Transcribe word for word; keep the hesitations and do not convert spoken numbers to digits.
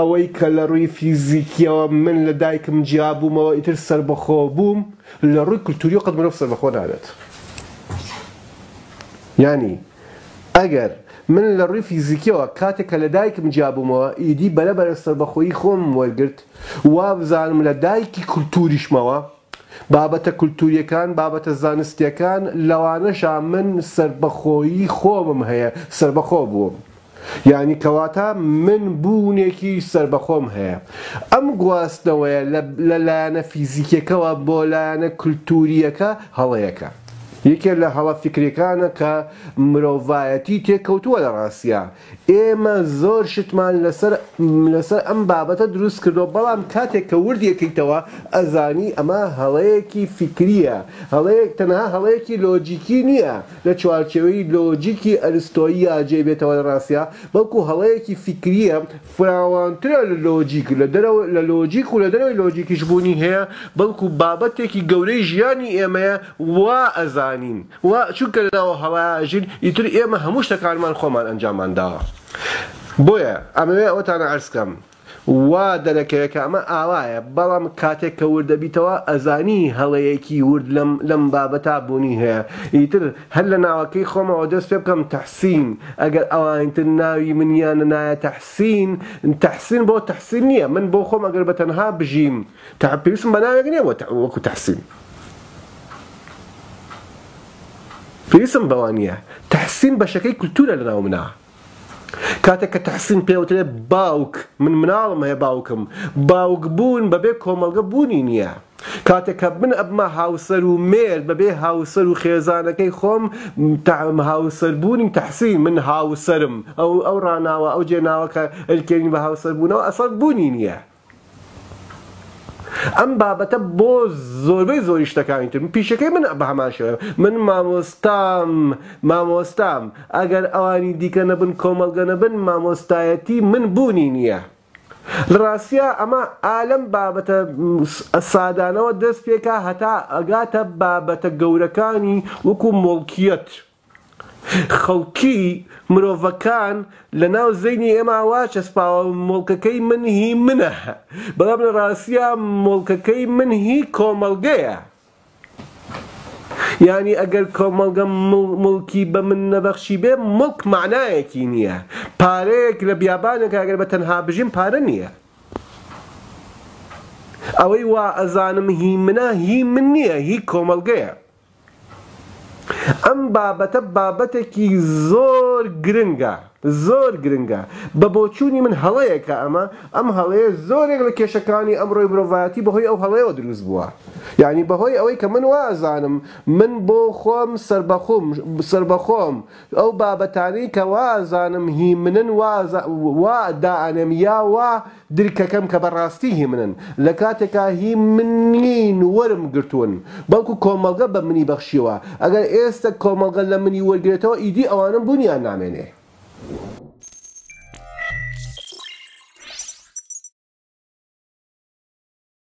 ئەوەی کە لە ڕووی فیزیکیەوە من لە دایکم جیابوومەوە ئیتر سەربەخۆ بووم، لە ڕووی کولتوری قەت مرۆڤ سەربەخۆ نابێت. یعنی ئەگەر من لە ڕووی فیزیکیەوە کاتێک کە لە دایکم جیابوومەوە ئیدی بەرەبەرە سەربەخۆیی خۆم وەرگرت، وا بزانم لە دایکی کولتوریشمەوە بابەتە کولتوریەکان بابەتە زانستیەکان لەوانەشا من سەربەخۆیی خۆمم هەیە، سەربەخۆ بووم. یعنی کەواتە من بوونێکی سەربەخۆم هەیە. ئەم گواستنەوەیە لە لایەنە فیزیکیەکەوە بۆ لایەنە کولتوریەکە هەڵەیەکە. یەکێ لە هەڵە فیکریەکانە کە مرۆڤایەتی تێکەوتووە لە ڕاستیا. ئێمە زۆر شتمان لەسەر لەسەر ئەم بابەتە دروست کردەوە، بەڵام کاتێک کە وردیەکەیتەوە ئەزانی ئەمە هەڵەیەکی فیکریە، هەڵەیەک تەنها هەڵەیەکی لۆجیکی نییە لە چوارچێوەی لۆجیکی ئەرستۆییە جێ بێتەوە لە ڕاستیا، بەڵکو هەڵەیەکی فیکریە فراوانترە لە لۆجیک، لە دەرەوە لە لۆجیک و لە دەرەوەی لۆجیکیش بوونی هەیە، بەڵکو بابەتێکی گەورەی ژیانی ئێمەیە وا ئەزانین و چونکە لەناو هەڵاژین ئیتر ئێمە هەموو شتەکانمان خۆمان ئەنجامان داوە. بۆیە ئەمەوێ ئەوەتانە عەرز کەم وا دەرەکەوێت کە ئەمە ئاوایە، بەڵام کاتێک کە ورد دەبیتەوە ئەزانی هەڵەیەکی ورد لەم لەم بابەتا بوونی هەیە. ئیتر هەر لە ناوەکەی خۆمەوە دەست پێ بکەم تەحسین، ئەگەر ئەوانتر ناوی منیان نایە تەحسین، تەحسین بۆ تەحسین نییە. من بۆ خۆم ئەگەر بە تەنها بژیم پێویستم بە ناوێک نییە وەکو تەحسین، پێویستم بەوە نییە. تەحسین بەشەکەی کولتورە لەناو منە. کاتێک کە تەحسین پێوترێ باوک، من مناڵم هەیە باوکم، باوک بوون بەبێ کۆمەڵگە بوونی نییە. کاتێک کە من ئەبمە هاوسەر و مێرد بەبێ هاوسەر و خێزانەکەی خۆم هاوسەربوونی تەحسین، من هاوسەرم، ئەو ئەو ڕاناوە ئەو جێناوە کە ئەلکێنین بە هاوسەربوونەوە ئەسڵ بوونی نییە. ئەم بابەتە بۆ زۆربەی زۆری شتەکانی تر پیشەکەی من بە هەمان شێوە. من مامۆستام مامۆستام ئەگەر ئەوانی دیکە نەبن کۆمەڵگە نەبن مامۆستایەتی من بوونی نییە. لە ڕاستیا ئەمە ئالەم بابەتە سادانەوە دەست پێکا هەتا ئەگاتە بابەتە گەورەکانی وەکو مڵکیەت. خەڵکی مرۆڤەکان لە ناو زەینی ئێمە وا چەسپاوە مڵکەکەی من هی منە، بەڵام لە ڕاستیا مڵکەکەی من هی کۆمەڵگەیە. یعنی ئەگەر کۆمەڵگە مڵکی بە من نەبەخشی بێ مڵک معنایەکی نییە. پارەیەک لە بیابانێکە ئەگەر بە تەنها بژیم پارە نییە. ئەوەی وا ئەزانم هی منە هی من نییە، هی کۆمەڵگەیە. ئەم بابەتە بابەتێکی زۆر گرنگە، زۆر گرنگە. بە بۆچوونی من هەڵەیەکە ئەمە، ئەم هەڵەیە زۆرێک لە کێشەکانی ئەمڕۆی مرۆڤایەتی بەهۆی ئەو هەڵەیەوە دروست بووە. یعنی بەهۆی ئەوەی کە من وا ئەزانم من بۆ خۆم سەربەخۆم سەربەخۆم، ئەو بابەتانەی کە وا ئەزانم هی منن وا دائەنێم یا وا درکەکەم کە بەڕاستی هی منن، لە کاتێکا هی من نین وەرم گرتوون، بەڵکو کۆمەڵگە بە منی بەخشیوە. ئەگەر ئێستا کۆمەڵگە لە منی وەرگرێتەوە ئیدی ئەوانم بوونیان نامێنێ.